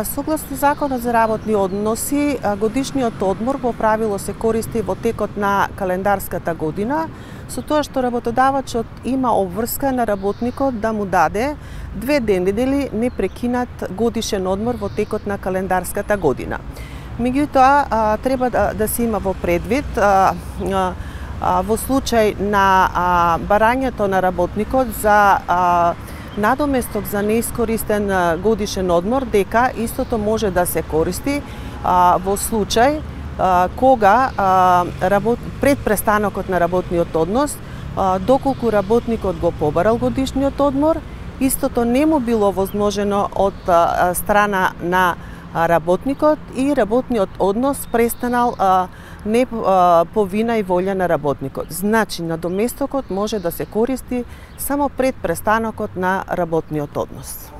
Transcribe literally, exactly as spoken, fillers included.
Согласно Законот за работни односи, годишниот одмор по правило се користи во текот на календарската година, со тоа што работодавачот има обврска на работникот да му даде две недели непрекинат годишен одмор во текот на календарската година. Меѓутоа, треба да, да се има во предвид а, а, а, во случај на а, барањето на работникот за а, надоместок за неискористен годишен одмор, дека истото може да се користи а, во случај а, кога а, работ... пред престанокот на работниот однос, а, доколку работникот го побарал годишниот одмор, истото не му било возможено од а, страна на работникот и работниот однос престанал а, не а, по вина и волја на работникот. Значи, надоместокот може да се користи само пред престанокот на работниот однос.